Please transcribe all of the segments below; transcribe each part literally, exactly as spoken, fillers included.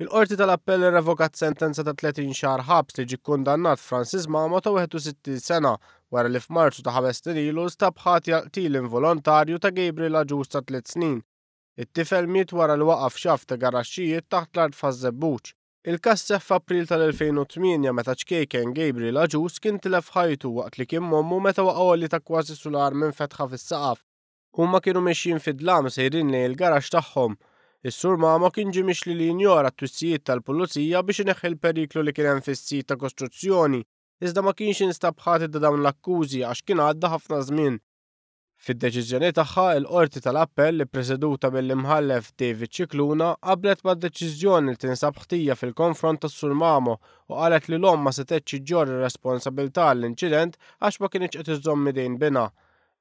Il-Qorti tal-Appell irrevokat sentenza ta' tletin xahar ħabs li ġie kkundannat Francis Mamo ta' wieħed u sittin sena wara li f'Marzu ta' ħames snin ilu stab ħati għal qtil involontarju ta' Gabriel Agius ta' tliet snin. It-tifel miet wara li waqa' f'xaft ta' garaxxijiet taħt l-art f'Ħaż-Żebbuġ. Il-każ seħħ f'April tal-elfejn u tmienja meta ċkejken Gabriel Agius kien tilef ħajtu waqt li kien m'ommu meta waqa' għoli ta' kważi sular minn fetħa fis-saqaf. Huma kienu mexjin fid-dlam sejrin lejn il-garaxx tagħhom. Is-Sur Mamo kien ġie mixli li jinjora t-twissijiet tal-pulizija biex ineħħi l-periklu li kien hemm fis-sit ta' kostruzzjoni, iżda ma kienx instab ħati ta' dawn l-akkużi għax kien għadda ħafna żmien. Fid-deċiżjoni tagħha, il-Qorti tal-Appell li preseduta mill-Imħallef David Scicluna qablet mad-deċiżjoni li tinsab ħtija fil-konfront tas-Sur Mamo u qalet li l-omm ma setgħetx iġġorr ir-responsabilità għall-inċident għax ma kinitx qed iżżomm idejn binha.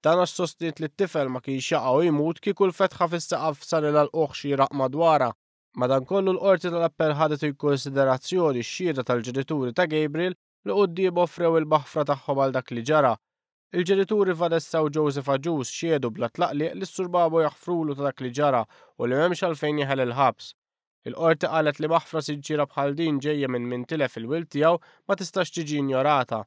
Dan għax sostniet li t-tifel ma kienx jaqa' u jmut kieku l-fetħa fis-saqaf sarilha lqugħ xieraq madwarha. Madankollu, l-Qorti tal-Appell ħadet in konsiderazzjoni x-xhieda tal-ġenituri ta' Gabriel li quddiem offrew il-maħfra tagħhom għal dak li ġara. Il-ġenituri Vanessa u Joseph Agius xehdu bla tlaqliq li s-Sur Mamo jaħfrulu ta' dak li ġara u li m'hemmx għalfejn jeħel il-ħabs. Il-qorti qalet li maħfra sinċiera bħal din ġejja minn min tilef il-wild tiegħu ma tistax tiġi injorata.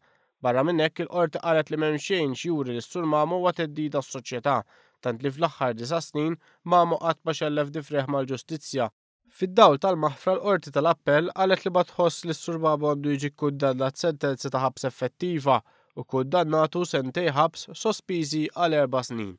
Barra minn hekk, il-qorti qalet li m'hemm xejn x'juri li s-Sur Mamo huwa theddida għas-soċjetà, tant li fl-aħħar disa' snin Mamo qatt ma xellef difrejh mal-ġustizzja. Fid-dawl tal-maħfra, l-Qorti tal-Appell qalet li ma tħoss li s-Sur Mamo għandu jiġi kkundannat sentenza ta' ħabs effettiva u kkundannatu sentejn ħabs sospiżi għal erba' snin.